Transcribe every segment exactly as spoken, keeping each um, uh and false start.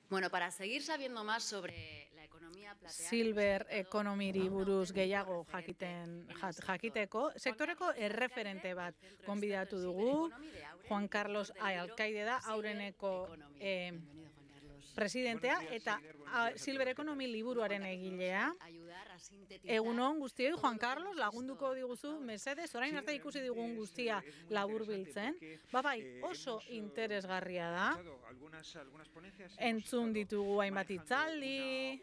Bueno, para seguir sabiendo más sobre la economía plateada... Silver ekonomiri buruz gehiago jakiten jakiteko, sektoreko erreferente bat gonbidatu dugu. Juan Carlos Alcaide da, Aureneko eh, presidentea eta Silver Economy liburuaren egilea. Egunon guztioi, Juan Carlos, lagunduko diguzu, mesedez, orain arte ikusi digun guztia laburbiltzen. Ba bai, oso interesgarria da. Entzun ditugu hainbat hitzaldi,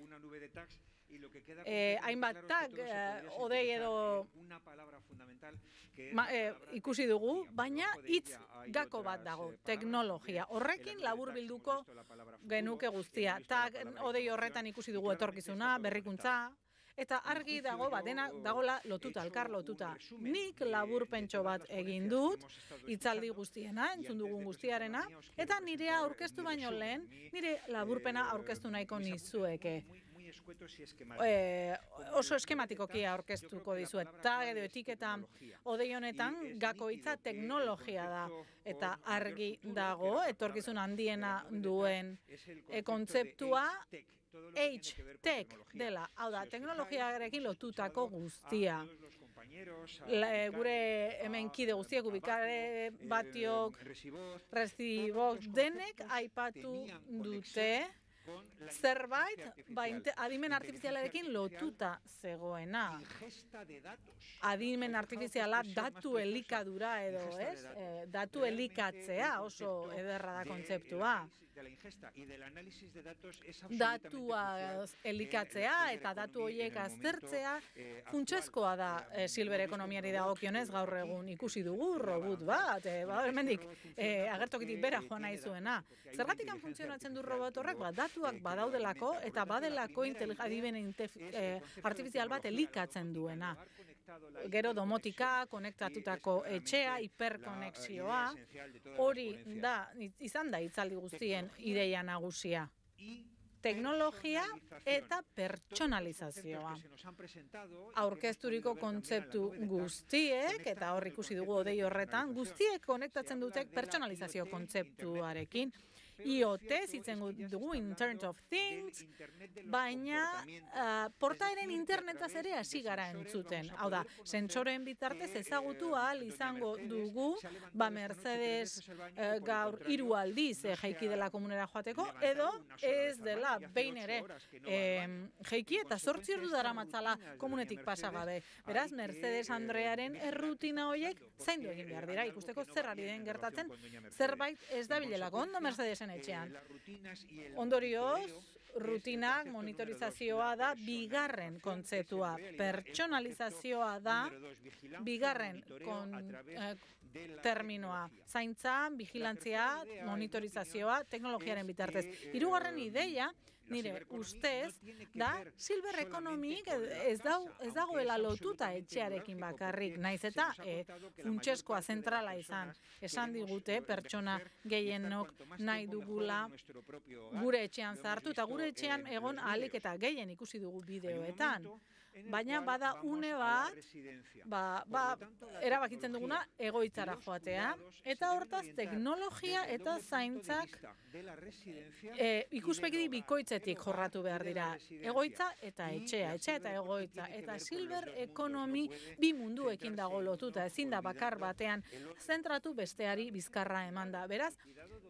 eh, hainbat tag, eh, odei edo ma, eh, ikusi dugu, baina hitz gako bat dago, teknologia. Horrekin laburbilduko genuke guztia. Tag, odei horretan ikusi dugu etorkizuna, berrikuntza, eta argi dago bat, dena dagola lotuta, elkar lotuta. Nik laburpentxo bat egin dut, hitzaldi guztiena, entzun dugun guztiarena, eta nirea aurkeztu baino lehen, nire laburpena aurkeztu nahiko nizueke. Eh, oso eskematikoki aurkeztuko dizuet. Tag edo etiketa odei honetan gako hitza teknologia da. Eta argi dago, etorkizun handiena duen e, kontzeptua H-Tech dela. Hau da, teknologiarekin lotutako guztia. La, e, gure hemen kide guztiak, ubikare batiok, Resibok, denek aipatu dute zerbait ba, adimen artifizialarekin lotuta zegoena. Adimen artifiziala datu elikadura edo, ez? E, datu elikatzea oso ederra da kontzeptua. Datua elikatzea eta datu horiek aztertzea funtsezkoa da e, Silver ekonomiari dagokionez gaur egun ikusi dugu robot bat, e, ba, hemendik e, agertokitik bera joan nahi zuena. Zergatik funtzionatzen du robot horrek bat? Datuak badaudelako eta badelako adimen eh, artifizial bat elikatzen duena. Gero domotika, konektatutako etxea, hiperkonexioa, hori da, izan da hitzaldi guztien ideia nagusia. Teknologia eta pertsonalizazioa. Aurkezturiko kontzeptu guztiek, eta hor ikusi dugu odei horretan, guztiek konektatzen dutek pertsonalizazio kontzeptuarekin. I O T zitzen dugu, Internet of Things, baina uh, portaeren internetaz ere hasi gara entzuten. Hau da, sentsoren bitartez ezagutu ahal izango dugu, ba Mercedes uh, gaur hiru aldiz eh, jaiki dela komunera joateko, edo ez dela behin ere eh, jaiki eta zortzi ordu daramatzala komunetik pasa gabe. Beraz, Mercedes Andrearen errutina horiek zaindu egin behar dira, ikusteko zer ari den gertatzen, zerbait ez da bilelako ondo Mercedesen etxean. Ondorioz, rutinak, monitorizazioa da bigarren kontzeptua, pertsonalizazioa da bigarren kon, eh, terminoa, zaintza, vigilantzia, monitorizazioa, teknologiaren bitartez. Hirugarren ideia, nire ustez, da Silver Economic ez, dau, ez dagoela lotuta etxearekin bakarrik, naiz eta e, funtsezkoa zentrala izan. Esan digute pertsona gehienok nahi dugula gure etxean zartu, eta gure etxean egon ahalik eta gehien ikusi dugu bideoetan. Baina bada une bat, ba, ba, erabakitzen duguna egoitzara joatea, eta hortaz teknologia eta zaintzak e, ikuspegi bikoitzetik jorratu behar dira. Egoitza eta etxea, etxea eta egoitza. Eta Silver Economy bi munduekin dago lotuta, ezin da bakar batean zentratu besteari bizkarra eman da. Beraz,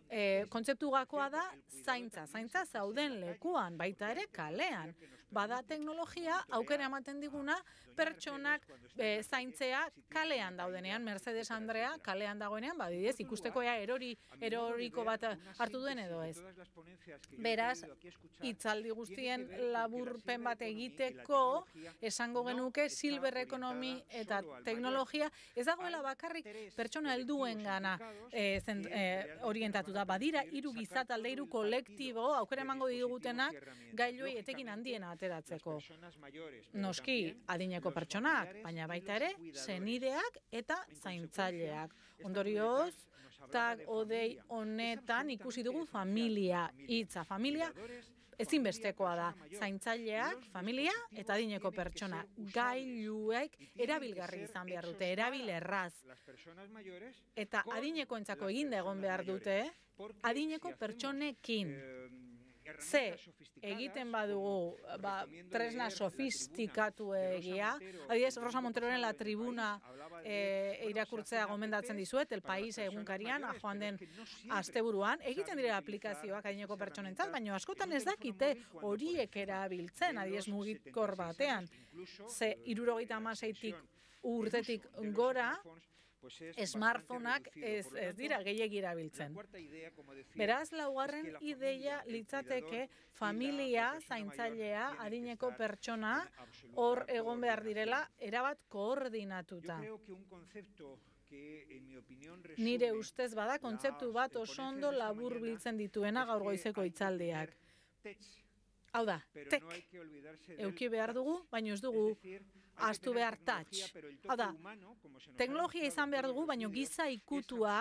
e, kontzeptu gakoa da zaintza, zaintza zauden lekuan, baita ere kalean. Bada teknologia, aukera ematen diguna, pertsonak e, zaintzea kalean daudenean, Mercedes Andrea kalean dagoenean, badidez, ikusteko ea erori, eroriko bat hartu duen edo ez. Beraz, hitzaldi guztien laburpen bat egiteko, esango genuke Silver Economy eta teknologia, ez dagoela bakarrik pertsona helduen gana e, zen, e, orientatuta. Badira, hiru gizatalde, hiru kolektibo, aukera emango digutenak, gailuei etekin handiena ateratzeko. Noski, adineko pertsonak, baina baita ere, senideak eta zaintzaileak. Ondorioz, tag odei honetan ikusi dugu familia hitza. Familia ezinbestekoa da. Zaintzaileak, familia eta adineko pertsona. Gailuek erabilgarri izan behar dute, erabilerraz. Eta adinekoentzako eginda egon behar dute, adineko pertsonekin. Ze, egiten badugu ba, tresna sofistikatu egia, adibidez, Rosa Monteroren La Tribuna e, irakurtzea gomendatzen dizuet, El País egunkarian, joan den asteburuan, egiten dira aplikazioak adineko pertsonentzat, baina askotan ez dakite horiek erabiltzen, adibidez mugikor batean. Ze, hirurogeita hamaseitik urtetik gora, smartphoneak ez, ez dira gehiegi erabiltzen. Beraz, laugarren ideia litzateke familia, zaintzailea, adineko pertsona, hor egon behar direla, erabat koordinatuta. Nire ustez bada, kontzeptu bat oso ondo labur biltzen dituena gaur goizeko hitzaldiak. Hau da, tek, euki behar dugu, baina ez dugu ahaztu behar touch. Hau da, teknologia izan behar dugu, baina giza ikutua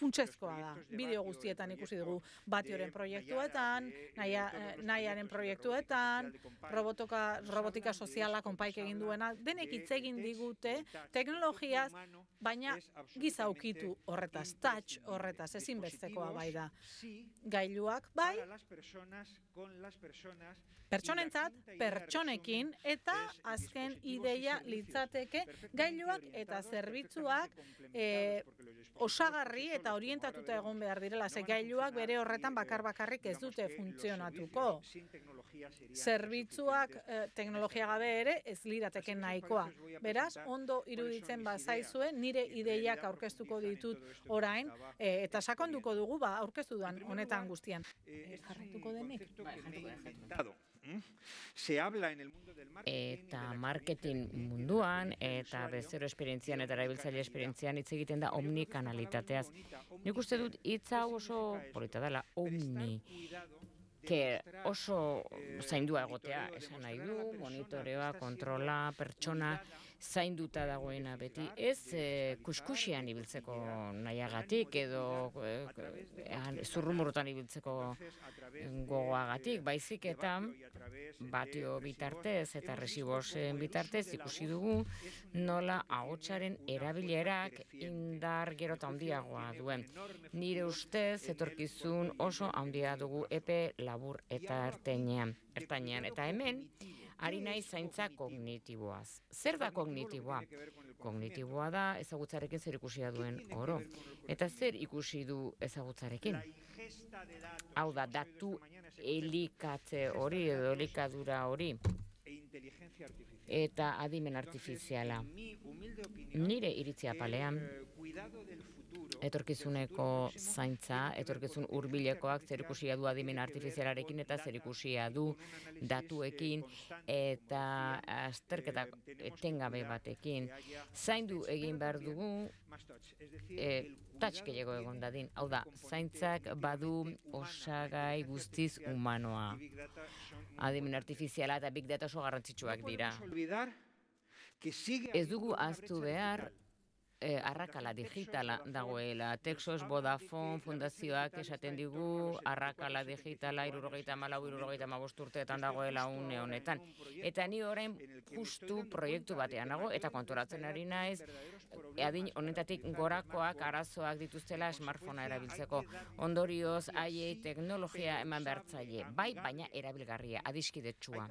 funtsezkoa da. Bideo guztietan ikusi dugu, Batioren proiektuetan, Nahiaren proiektuetan, robotika soziala konpaik egin duena, denek hitz egin digute teknologiaz, baina giza ukitu horretaz, touch horretaz, ezinbestekoa bai da. Gailuak bai, pertsonentzat, pertsonekin, eta azken ideia litzateke gailuak eta zerbitzuak e, osagarri eta orientatuta egon behar direla, ze gailuak bere horretan bakar-bakarrik ez dute funtzionatuko. Zerbitzuak e, teknologia gabe ere ez lirateke nahikoa. Beraz, ondo iruditzen bazaizue, nire ideiak aurkeztuko ditut orain, e, eta sakonduko dugu ba, aurkeztu duan honetan guztian. E, jarraituko denik? Eta marketing munduan eta bezero esperientzian eta erabiltzaile esperientzian hitz egiten da omnikanalitateaz. Nik uste dut hitz hau oso polita dela, omni, que oso zaindua egotea, esan nahi du, monitoreoa, kontrola, pertsona, zainduta dagoena beti, ez e, kuskusian ibiltzeko nahiagatik edo e, zurrumurrutan ibiltzeko gogoagatik, baizik eta Batio bitartez eta Resibosen bitartez ikusi dugu nola ahotsaren erabilerak indar gero eta handiagoa duen. Nire ustez etorkizun oso handia dugu epe labur eta ertainean. Eta hemen, ari nahi zaintza kognitiboaz. Zer da kognitiboa? Kognitiboa da ezagutzarekin zer ikusia duen oro. Eta zer ikusi du ezagutzarekin? Hau da, datu elikatze hori edo elikadura hori. Eta adimen artifiziala. Nire iritzia palean, etorkizuneko zaintza, etorkizun hurbilekoak zerikusia du adimen artifizialarekin eta zerikusia du datuekin eta azterketa etengabe batekin. Zaindu egin behar dugu e, touch gehiago egon dadin. Hau da, zaintzak badu osagai guztiz humanoa. Adimen artifiziala eta big data oso garrantzitsuak dira. Ez dugu ahaztu behar Eh, arrakala digitala dagoela. Texos Vodafone fundazioak esaten digu arrakala digitala hirurogeita hamalau hirurogeita hamabost urteetan dagoela une honetan. Eta ni orain justu proiektu batean nago eta konturatzen ari naiz adin honetatik gorakoak arazoak dituztela smartphonea erabiltzeko. Ondorioz haiei teknologia eman behartzaile, bai baina erabilgarria, adiskidetsua.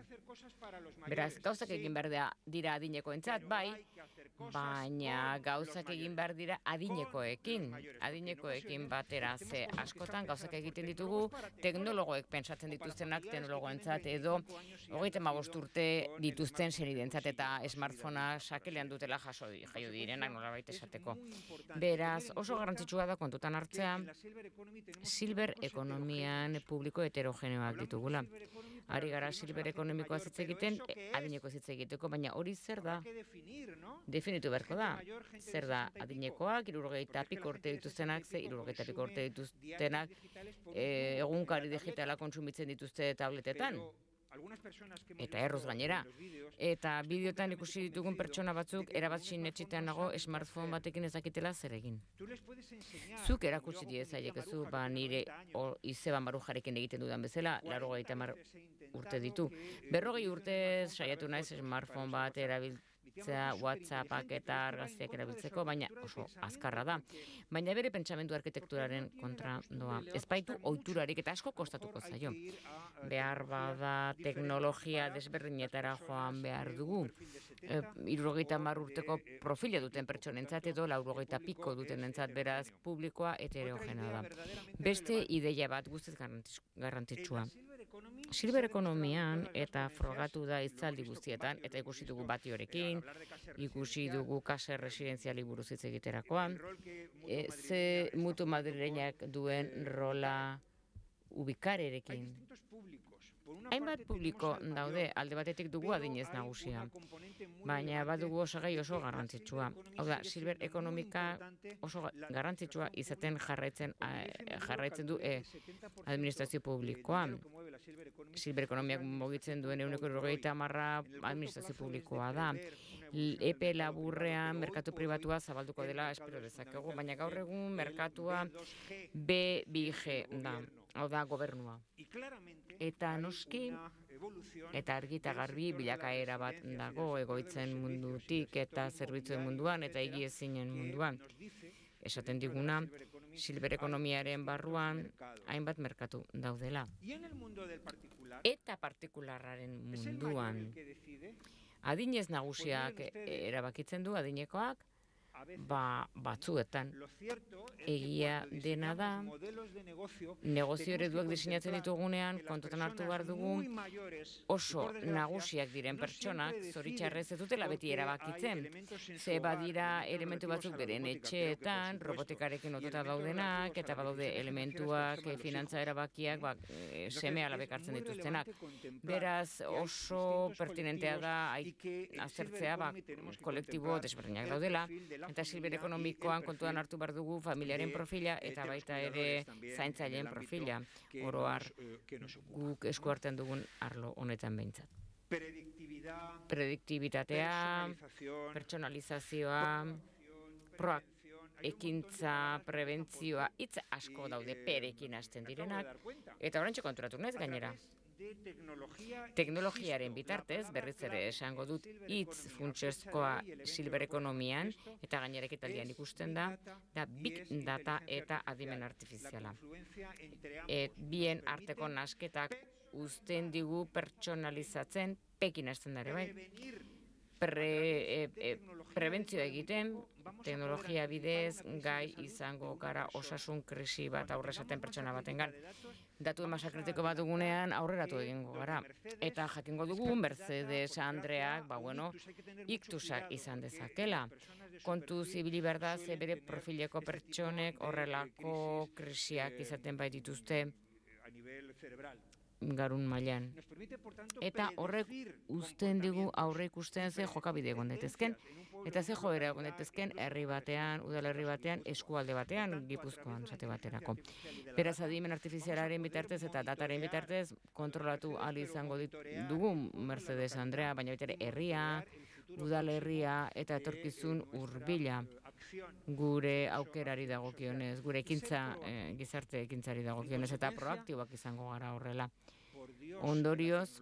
Beraz, gauzak egin behar dira adinekoentzat, bai, baina gauzak egin behar dira adinekoekin, adinekoekin batera, ze askotan gauzak egiten ditugu teknologoek pentsatzen dituztenak teknologoentzat edo hogeita hamabost urte dituzten senidentzat eta smartphonea sakelean dutela jaso jaio direnak nolabait esateko. Beraz, oso garrantzitsua da kontutan hartzea silver ekonomian publiko heterogeneoak ditugula. Ari gara silver ekonomikoa hitz egiten, adineko hitz egiteko, baina hori zer da? Definitu beharko da. Zer da adinekoak, hirurogeita piko urte dituztenak, ze hirurogeita piko urte dituztenak egunkari digitala kontsumitzen dituzte tabletetan. Eta erruz gainera. Eta bideotan ikusi ditugun pertsona batzuk erabat sinetxitean nago smartphone batekin ez dakitela zer egin. Zuk erakutsi diezaiekezu, ba nire Izeban Barujarekin egiten dudan bezala, laurogeita hamar urte ditu. Berrogei urte saiatu naiz smartphone bat erabil erabiltzea WhatsAppak eta argazkiak erabiltzeko, baina oso azkarra da. Baina bere pentsamendu arkitekturaren kontra doa. Ez baitu ohiturarik eta asko kostatuko zaio. Behar bada teknologia desberdinetara joan behar dugu. E, Hirurogeita hamar urteko profila duten pertsonentzat edo laurogeita piko dutenentzat, beraz publikoa heterogena da. Beste ideia bat guztiz garrantzitsua. Silver ekonomian eta frogatu da hitzaldi guztietan, eta ikusi dugu Batiorekin, ikusi dugu kasa residenziali buruz hitz egiterakoan, e, ze mutu madrileñak duen rola ubikarerekin. Hainbat publiko daude, alde batetik dugu adinez nagusia, baina badugu osagai oso garrantzitsua. Hau da, silver ekonomika oso garrantzitsua izaten jarraitzen, jarraitzen du e, administrazio publikoa. Silver ekonomiak mugitzen duen ehuneko hirurogeita hamarra administrazio publikoa da. Epe laburrean merkatu pribatua zabalduko dela espero dezakegu, baina gaur egun merkatua B bi G da, hau da gobernua. Eta noski, eta argi eta garbi bilakaera bat dago egoitzen mundutik eta zerbitzuen munduan eta egiezinen munduan. Esaten diguna, silver ekonomiaren barruan hainbat merkatu daudela. Eta partikularraren munduan. Adinez nagusiak erabakitzen du, adinekoak, ba, batzuetan. Egia dena da, negozio ereduak diseinatzen ditugunean, kontutan hartu behar dugu, oso nagusiak diren pertsonak, zoritxarrez ez dutela beti erabakitzen. Ze badira elementu batzuk beren etxeetan, robotikarekin lotuta daudenak, eta badaude elementuak, finantza erabakiak, ba, seme alabek hartzen dituztenak. Beraz, oso pertinentea da aztertzea, ba, kolektibo desberdinak daudela, eta silver ekonomikoan kontuan hartu behar dugu familiaren profila eta baita ere zaintzaileen profila, oro har guk esku artean dugun arlo honetan behintzat. Prediktibitatea, pertsonalizazioa, proak, ekintza, prebentzioa, hitz asko daude perekin hasten direnak, eta oraintxe konturatu naiz gainera. Teknologiaren bitartez, berriz ere esango dut, hitz funtsezkoa silver ekonomian, eta gainera ekitaldian ikusten da, da big data eta adimen artifiziala. Et, bien arteko nasketak uzten digu pertsonalizatzen, pekin hasten dare bai. Pre, e, e, prebentzioa egiten, teknologia bidez, gai izango gara osasun krisi bat aurrezaten pertsona batengan. Datu masa kritiko bat dugunean aurreratu egingo gara. Eta jakingo dugu Mercedes Andreak, ba bueno, iktusak izan dezakela. Kontu zibili behar da, ze bere profileko pertsonek horrelako krisiak izaten baitituzte garun mailan. Eta horrek uzten digu aurre ikusten ze jokabide egon daitezken, eta ze joera egon daitezken herri batean, udalerri batean, eskualde batean, Gipuzkoan esate baterako. Beraz, adimen artifizialaren bitartez eta dataren bitartez kontrolatu ahal izango dugu Mercedes Andrea, baina baita ere herria, udalerria eta etorkizun hurbila gure aukerari dagokionez, gure ekintza, eh, gizarte ekintzari dagokionez, eta proaktibak izango gara horrela. Ondorioz,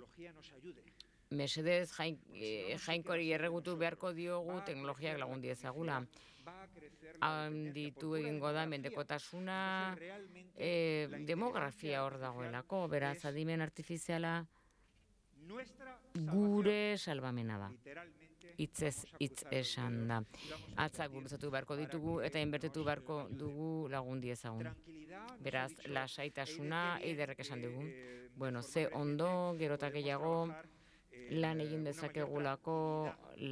mesedez jain, eh, jainkori erregutu beharko diogu teknologiak lagun diezagula. Handitu egingo da mendekotasuna, eh, demografia hor dagoelako, beraz adimen artifiziala gure salbamena da. Hitzez hitz esan da. Atzak gurutzatu beharko ditugu eta inbertitu beharko dugu lagun diezagun. Beraz, lasaitasuna eiderrek esan dugu. Bueno, ze ondo, gerota gehiago, lan egin dezakegulako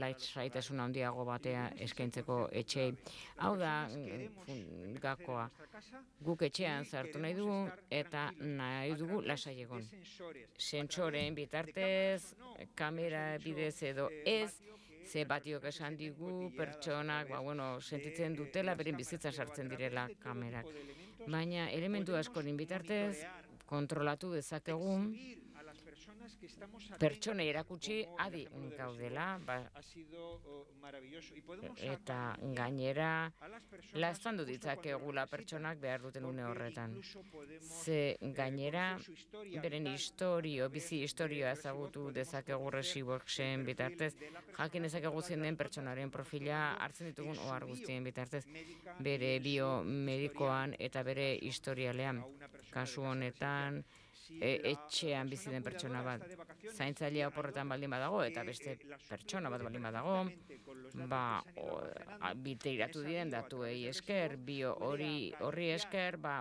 lasaitasuna handiago batea eskaintzeko etxei. Hau da, gakoa, guk etxean zartu nahi dugu eta nahi dugu lasai egon. Sentsoren bitartez, kamera bidez edo ez, ze batiok esan digu pertsonak, ba, bueno, sentitzen dutela, beren bizitzan sartzen direla kamerak. Baina elementu askoren bitartez, kontrolatu dezakegun pertsonei erakutsi adi gaudela, ba, eta gainera laztandu ditzakegula pertsonak behar duten une horretan. Ze gainera beren historio, bizi historioa ezagutu dezakegu Regiworksen bitartez, jakin dezakegu zein den pertsonaren profila hartzen ditugun ohar guztien bitartez, bere biomedikoan eta bere historialean. Kasu honetan, e, etxean bizi den pertsona bat zaintzailea oporretan baldin badago eta beste pertsona bat baldin badago, ba, biteiratu diren datuei esker, bio hori horri esker, ba,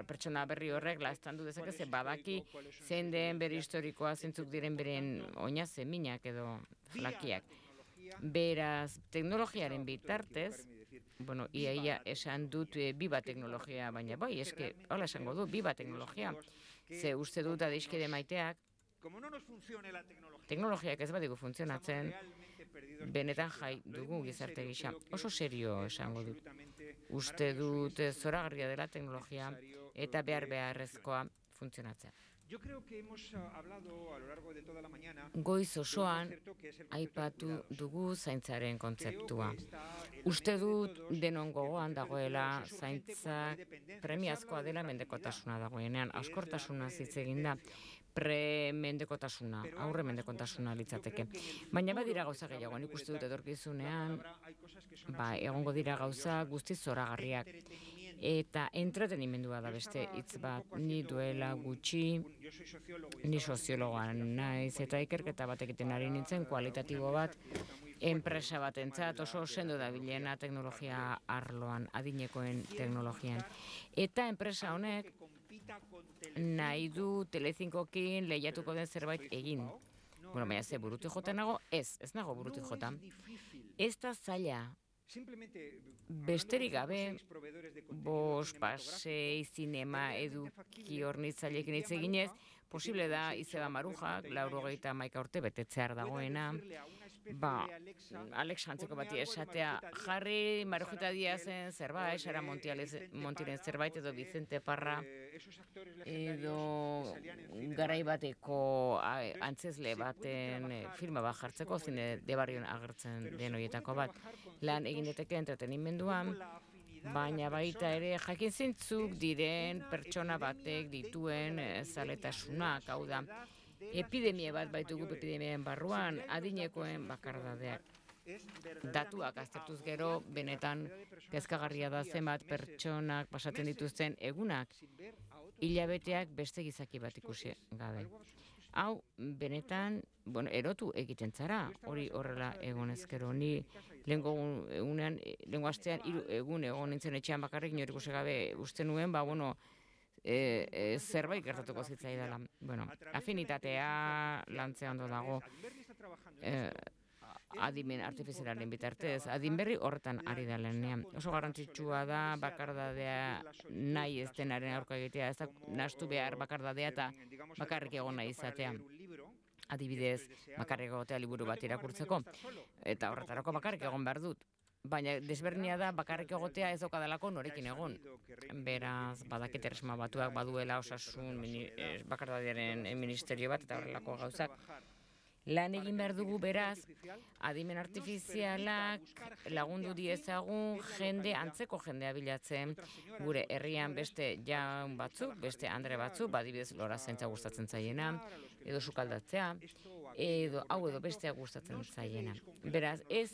pertsona berri horrek laztandu dezake ze badaki zein den bere historikoa, zeintzuk diren beren oina zeminak edo flakiak. Beraz, teknologiaren bitartez, bueno, ia ia esan dut e, biba teknologia, baina bai, eske, hola esango du, biba teknologia. Ze uste dut adeiskide maiteak, teknologiak ez badigu funtzionatzen, benetan jai dugu gizarte gisa. Oso serio esango dut. Uste dut zoragarria dela teknologia eta behar beharrezkoa funtzionatzen. Goiz osoan aipatu dugu zaintzaren kontzeptua. Uste dut denon gogoan dagoela zaintza premiazkoa dela mendekotasuna dagoenean. Askortasuna hitz egin da pre-mendekotasuna, aurre mendekotasuna litzateke. Baina badira gauza gehiago, nik uste dut etorkizunean, ba, egongo dira gauza guztiz zoragarriak. Eta entretenimendua da beste hitz bat, ni duela gutxi, ni soziologoan naiz, eta ikerketa bat egiten ari nintzen kualitatibo bat, enpresa batentzat oso sendo dabilena teknologia arloan, adinekoen teknologian. Eta enpresa honek nahi du Telecincoekin lehiatuko den zerbait egin. Bueno, baina ze burutu jota nago? Ez, ez nago burutu jota. Ez da zaila. Besterik gabe, bos, pasei, zinema, eduki hornitzailekin hitz eginez, posible da Izeba Marujak, laurogeita hamaika urte betetzear dagoena, ba, Alex Antzeko bati esatea, jarri Marujita Diazen zerbait, Sara Montiren zerbait, edo Vicente Parra, edo garai bateko antzezle baten filma bat jartzeko, zine debarrion agertzen den horietako bat, lan egin daiteke entretenimenduan, baina baita ere jakin zintzuk diren pertsona batek dituen zaletasunak, hau da, epidemia bat baitugu epidemiaren barruan, adinekoen bakardadeak. Datuak aztertuz gero, benetan kezkagarria da zenbat pertsonak pasatzen dituzten egunak, hilabeteak beste gizaki bat ikusi gabe. Hau, benetan, bueno, erotu egiten zara, hori horrela egon ezkero. Ni lehenko egunean, lehenko astean, hiru egun egon nintzen etxean bakarrik, nire ikusi gabe uste nuen, ba, bueno, e, e, zerbait gertatuko zitzaidala. Bueno, afinitatea lantzea ondo dago, e, adimen artifizialaren bitartez, adin berri horretan ari da lehenean. Oso garrantzitsua da bakardadea nahi ez denaren aurka egitea, ez da nahastu behar bakardadea eta bakarrik egon nahi izatea. Adibidez, bakarrik egotea liburu bat irakurtzeko, eta horretarako bakarrik egon behar dut. Baina desberdina da bakarrik egotea ez daukadalako norekin egon. Beraz, badakit Erresuma Batuak baduela osasun bakardadearen ministerio bat eta horrelako gauzak. Lan egin behar dugu beraz, adimen artifizialak lagundu diezagun jende, antzeko jendea bilatzen, gure herrian beste jaun batzuk, beste andre batzuk, badibidez lora zaintza gustatzen zaiena, edo sukaldatzea, edo hau edo bestea gustatzen zaiena. Beraz, ez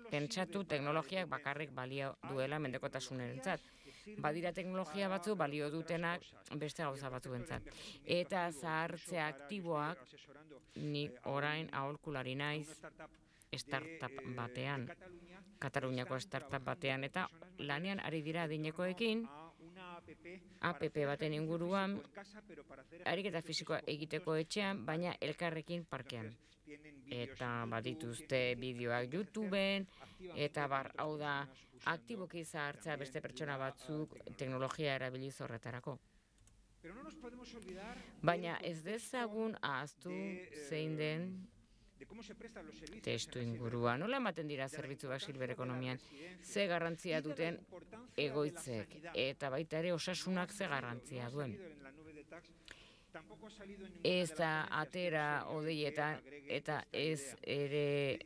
pentsatu teknologiak bakarrik balio duela mendekotasunerentzat. Badira teknologia batzu balio dutenak beste gauza batzuentzat. Eta zahartzea aktiboak, ni orain aholkulari naiz startup batean, Kataluniako startup batean, eta lanean ari dira adinekoekin, app baten inguruan, ariketa fisikoa egiteko etxean, baina elkarrekin parkean. Eta badituzte bideoak YouTubeen, eta bar, hau da, aktiboki zahartzea beste pertsona batzuk teknologia erabiliz horretarako. Baina ez dezagun ahaztu zein den testu ingurua. Nola ematen dira zerbitzuak silber ekonomian? Ze garrantzia duten egoitzek eta baita ere osasunak ze garrantzia duen. ez da atera odeietan eta ez ere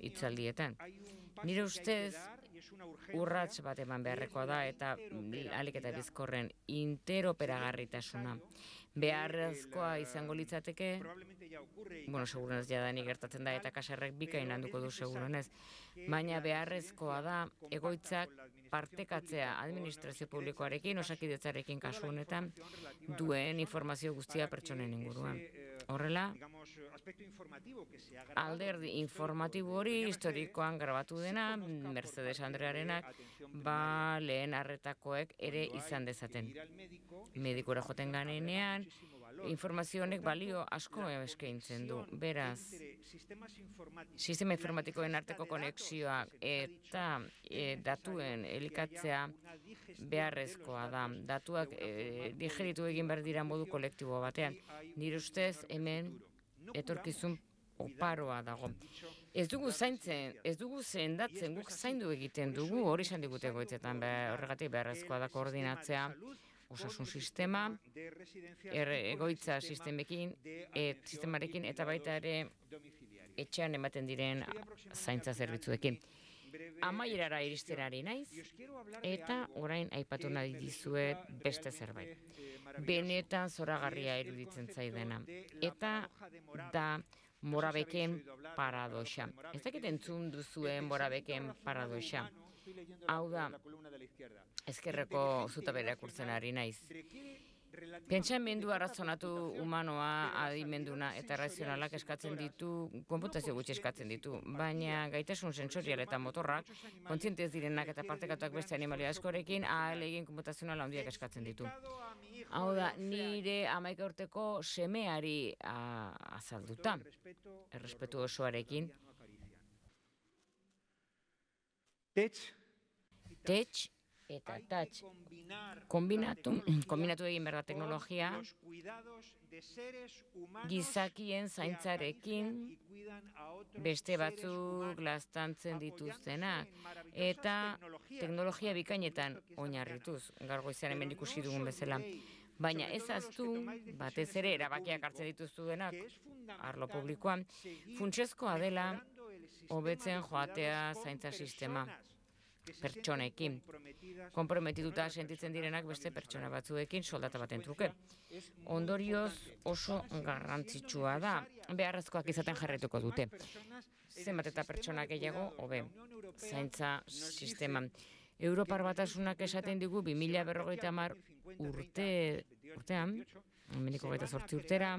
hitzaldietan. Nire ustez, urrats bat eman beharrekoa da eta ahalik eta bizkorren interoperagarritasuna. Beharrezkoa izango litzateke, bueno, segurenez jadanik gertatzen da eta kaserrek bikain handuko du segurenez, baina beharrezkoa da egoitzak partekatzea administrazio publikoarekin, osakidetzarekin kasu honetan, duen informazio guztia pertsonen inguruan. Horrela, alderdi informatibo hori historikoan grabatu dena, Mercedes Andrearenak, ba lehen arretakoek ere izan dezaten. Medikura joten ganenean, informazio honek balio asko eskaintzen du. Beraz, sistema informatikoen arteko konexioak eta e, datuen elikatzea beharrezkoa da. Datuak e, digeritu egin behar dira modu kolektibo batean. Nire ustez hemen etorkizun oparoa dago. Ez dugu zaintzen, ez dugu zendatzen, guk zaindu egiten dugu, hori esan digute goitzetan, horregatik beharrezkoa da koordinatzea, osasun sistema, er, egoitza sistemekin, et, sistemarekin eta baita ere etxean ematen diren zaintza zerbitzuekin. Amaierara iristenari naiz, eta orain aipatu nahi dizuet beste zerbait. Benetan zoragarria iruditzen zaidana. Eta da Morabeken paradoxa. Ez dakit entzun duzuen Morabeken paradoxa. Hau da, ezkerreko zutabera irakurtzen ari naiz. Pentsamendu arrazonatu humanoa, adimenduna eta razionalak eskatzen ditu, konputazio gutxi eskatzen ditu, baina gaitasun sensorial eta motorrak, kontzientez direnak eta partekatuak beste animalia askorekin, ahal egin konputazional handiak eskatzen ditu. Hau da, nire hamaika urteko semeari a, azalduta, errespetu osoarekin. Tech eta touch kombinatu, kombinatu egin behar da teknologia gizakien zaintzarekin beste batzuk laztantzen dituztenak eta teknologia bikainetan oinarrituz, gaur goizean hemen ikusi dugun bezala. Baina ez aztu, batez ere erabakiak hartzen dituztuenak arlo publikoan, funtsezkoa dela hobetzen joatea zaintza sistema pertsonekin. Konprometituta sentitzen direnak beste pertsona batzuekin soldata baten truke. Ondorioz oso garrantzitsua da, beharrezkoak izaten jarraituko dute. Zenbat eta pertsona gehiago, hobe, zaintza sisteman. Europar Batasunak esaten digu bi mila berrogeita hamar urte, urtean, hemendik hogeita zortzi urtera,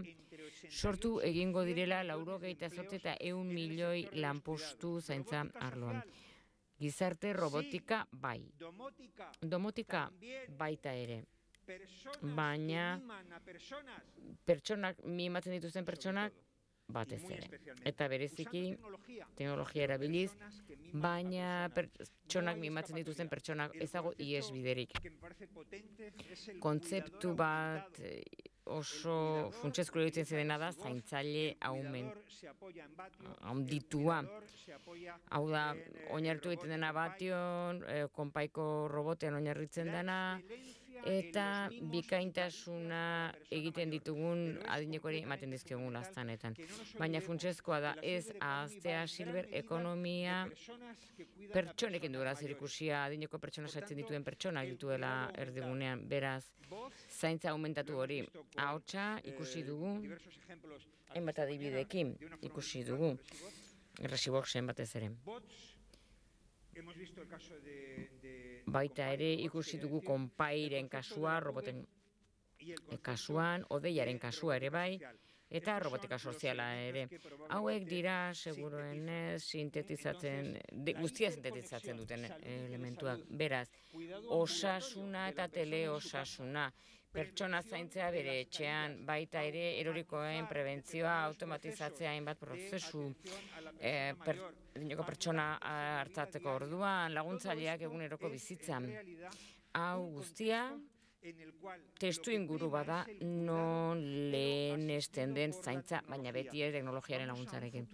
sortu egingo direla laurogeita zortzi eta ehun milioi lanpostu zaintza arloan. Gizarte robotika bai. Domotika baita ere. Baina pertsonak, mimatzen dituzten pertsonak, batez ere. Eta bereziki teknologia erabiliz, baina pertsonak mimatzen dituzten pertsonak ezago ihesbiderik. Kontzeptu bat oso funtsezko iruditzen zidena da zaintzaile handitua. Hau da, oinarritu egiten dena Bation, konpaiko robotean oinarritzen dena, eta bikaintasuna egiten ditugun adinekoari ematen dizkigun laztanetan. Baina funtsezkoa da ez ahaztea silber ekonomia pertsonekin duela zerikusia, adineko pertsona saltzen dituen pertsonak dituela erdigunean, beraz, zaintza aumentatu hori. Ahotsa ikusi dugu, hainbat adibideekin ikusi dugu, Resiboxen batez ere. Baita ere ikusi dugu konpairen kasua, roboten kasuan, odeiaren kasua ere bai, eta robotika soziala ere. Hauek dira, seguruenez, sintetizatzen, guztia sintetizatzen duten elementuak. Beraz, osasuna eta teleosasuna, pertsona zaintzea bere etxean, baita ere erorikoen prebentzioa, automatizatzea hainbat prozesu, e, per, pertsona hartzatzeko orduan, laguntzaileak eguneroko bizitzan. Hau guztia, testu inguru bada non lehenesten den zaintza, baina beti ere teknologiaren laguntzarekin.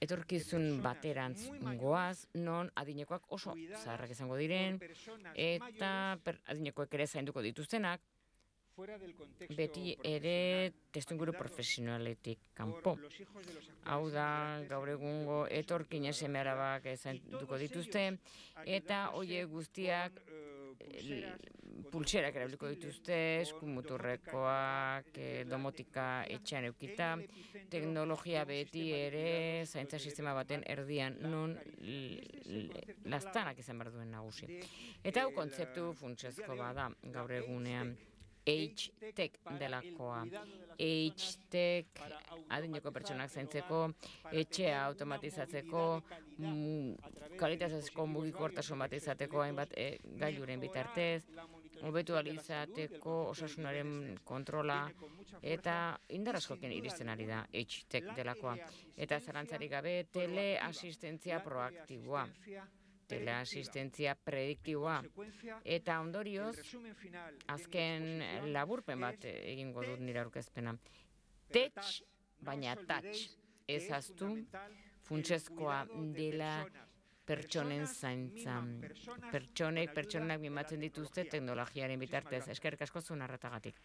Etorkizun baterantz goaz, non adinekoak oso zaharrak izango diren, eta adinekoek ere zainduko dituztenak, beti ere testuinguru profesionaletik kanpo. Hau da, gaur egungo etorkinen seme alabak zainduko dituzte, eta hoiek guztiak pultserak erabiliko dituzte, eskumuturrekoak, domotika etxean eukita, teknologia beti ere zaintza sistema baten erdian non lastanak izan behar duen nagusi. Eta hau kontzeptu funtsezko bada gaur egunean. H-Tech delakoa. H-Tech adineko pertsonak zaintzeko, etxea automatizatzeko, kalitatezko mugikortasun bat izateko hainbat gailuren bitartez, hobetu ahal izateko osasunaren kontrola, eta indar askokin iristen ari da H-Tech delakoa. Eta zalantzarik gabe teleasistentzia proaktiboa. teleasistentzia prediktiboa. Eta ondorioz, azken laburpen bat egingo dut nire aurkezpena. Tech, baina touch, ez aztu, funtsezkoa dela pertsonen zaintza. Pertsonek, pertsonak mimatzen dituzte teknologiaren bitartez. Eskerrik asko zuen arretagatik.